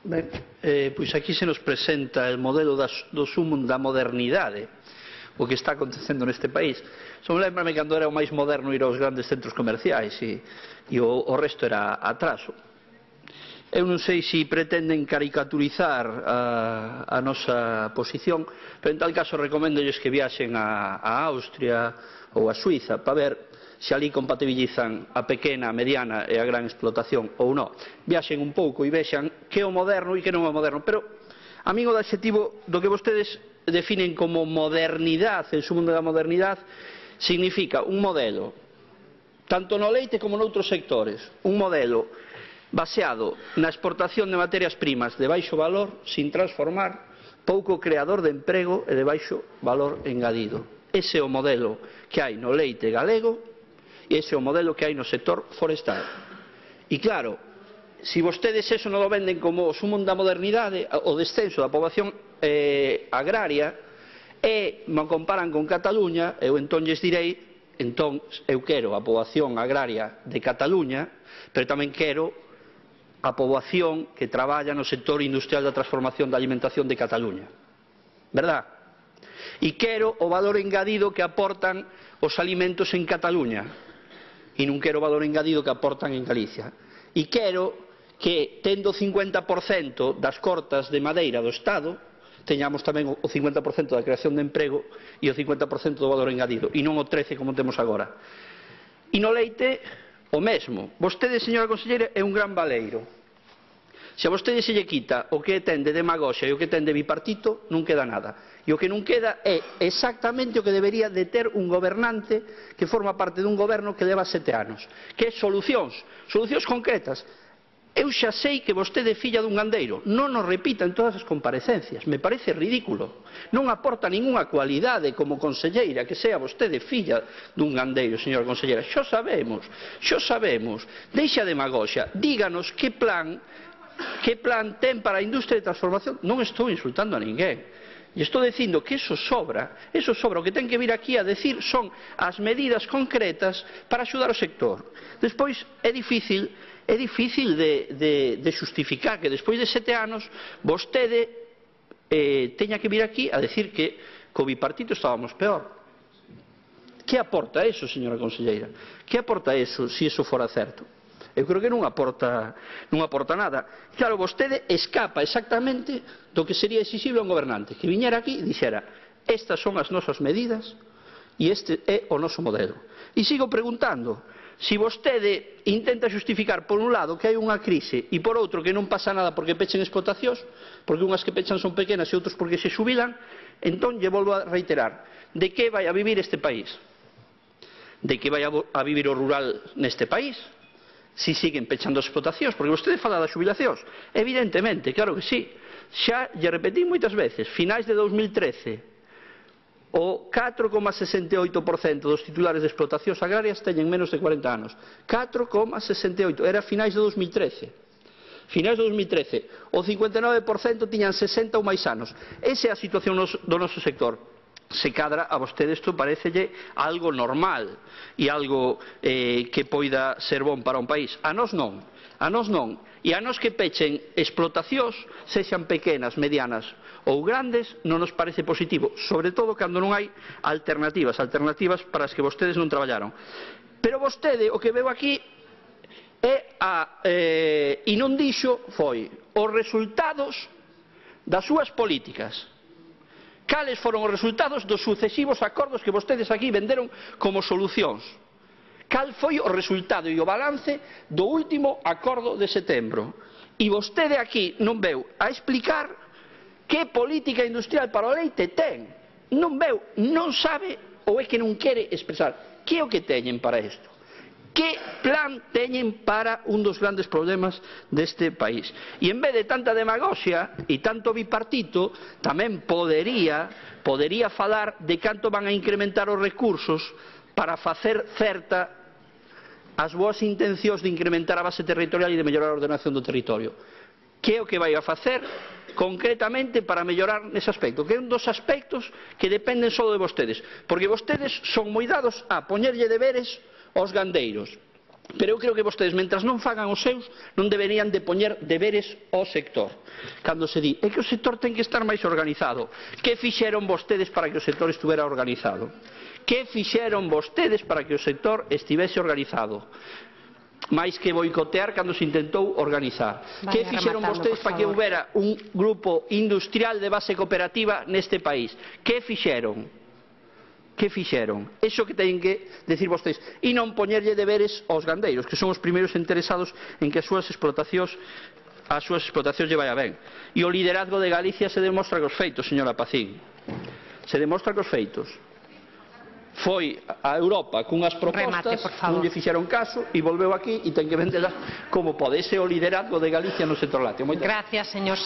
Ben, pois aquí se nos presenta o modelo do sumum da modernidade, o que está acontecendo neste país. Só me lembrame cando era o máis moderno ir aos grandes centros comerciais e o resto era atraso. Eu non sei se pretenden caricaturizar a nosa posición, pero en tal caso recoméndolles que viaxen a Austria ou a Suiza para ver se ali compatibilizan a pequena, a mediana e a gran explotación ou non. Viaxen un pouco e vexan que é o moderno e que non é o moderno. Pero a min o adxetivo do que vostedes definen como modernidade, en sumo da modernidade, significa un modelo, tanto no leite como noutros sectores, un modelo baseado na exportación de materias primas de baixo valor, sin transformar, pouco creador de emprego e de baixo valor engadido. Ese é o modelo que hai no leite galego e ese é o modelo que hai no sector forestal. E claro, se vostedes eso non o venden como o sumo da modernidade, o descenso da poboación agraria, e me comparan con Cataluña, eu entón lles direi, entón eu quero a poboación agraria de Cataluña, pero tamén quero a poboación que traballa no sector industrial da transformación da alimentación de Cataluña. Verdad? E quero o valor engadido que aportan os alimentos en Cataluña. E non quero o valor engadido que aportan en Galicia. E quero que, tendo o 50% das cortas de madeira do Estado, teñamos tamén o 50% da creación de emprego e o 50% do valor engadido, e non o 13% como temos agora. E no leite, o mesmo. Vostede, señora conselleira, é un gran baleiro. Se a vostede se lle quita o que ten de demagoxia e o que ten de bipartito, non queda nada. E o que non queda é exactamente o que debería de ter un gobernante que forma parte dun goberno que leva 7 anos, que é solucións concretas. Eu xa sei que vostede é filla dun gandeiro, non nos repita en todas as comparecencias, me parece ridículo. Non aporta ningunha cualidade como conselleira que sea vostede filla dun gandeiro, señora conselleira. Xo sabemos, deixa a demagoxia, díganos que plan ten para a industria de transformación. Non estou insultando a ninguén. E estou dicindo que eso sobra. O que ten que vir aquí a decir son as medidas concretas para axudar o sector. Despois é difícil de xustificar que despois de 7 anos vostede teña que vir aquí a decir que co bipartito estábamos peor. Que aporta eso, señora conselleira? Que aporta eso, se eso fora certo? Eu creo que non aporta nada. Claro, vostede escapa exactamente do que sería exixible a un gobernante, que viñera aquí e dixera: estas son as nosas medidas e este é o noso modelo. E sigo preguntando, se vostede intenta xustificar por un lado que hai unha crise e por outro que non pasa nada porque pechen explotacións, porque unhas que pechan son pequenas e outros porque se xubilan, entón lle volvo a reiterar: de que vai a vivir este país? De que vai a vivir o rural neste país? Si siguen pechando as explotacións, porque vostede fala das xubilacións. Evidentemente, claro que sí. Xa lle repetí moitas veces, finais de 2013, o 4,68% dos titulares de explotacións agrarias teñen menos de 40 anos. 4,68%, era finais de 2013. Finais de 2013, o 59% tiñan 60 ou máis anos. Esa é a situación do noso sector. Se cadra a vostede isto parecelle algo normal e algo que poida ser bon para un país. A nós non. E a nós que pechen explotacións, sexan pequenas, medianas ou grandes, non nos parece positivo, sobre todo cando non hai alternativas para as que vostedes non traballaron. Pero vostede o que veu aquí e non dixo foi os resultados das súas políticas. Cales foron os resultados dos sucesivos acordos que vostedes aquí venderon como solucións? Cal foi o resultado e o balance do último acordo de setembro? E vostede aquí non veu a explicar que política industrial para o leite ten. Non veu, non sabe ou é que non quere expresar. Que é o que teñen para isto? Que plan teñen para un dos grandes problemas deste país? E en vez de tanta demagoxia e tanto bipartito, tamén podería falar de canto van a incrementar os recursos para facer certa as boas intencións de incrementar a base territorial e de mellorar a ordenación do territorio. Que é o que vai a facer concretamente para mellorar nese aspecto? Que é un dos aspectos que dependen só de vostedes, porque vostedes son moi dados a poñerlle deberes aos gandeiros. Pero eu creo que vostedes, mentras non fagan os seus, non deberían de poñer deberes ao sector. Cando se di, é que o sector ten que estar máis organizado. Que fixeron vostedes para que o sector estuvera organizado? Que fixeron vostedes para que o sector estivese organizado? Máis que boicotear cando se intentou organizar. Que fixeron vostedes para que houbera un grupo industrial de base cooperativa neste país? Que fixeron? Que fixeron? Iso que teñen que decir vostedes. E non poñerlle deberes aos gandeiros, que son os primeiros interesados en que as súas explotacións lle vaya ben. E o liderazgo de Galicia se demostra cos feitos, señora Pacín. Se demostra cos feitos. Foi a Europa cunhas propostas, non lle fixeron caso e volveu aquí e ten que vendelas como pode. Ese é o liderazgo de Galicia no sector lácteo. Gracias, señor.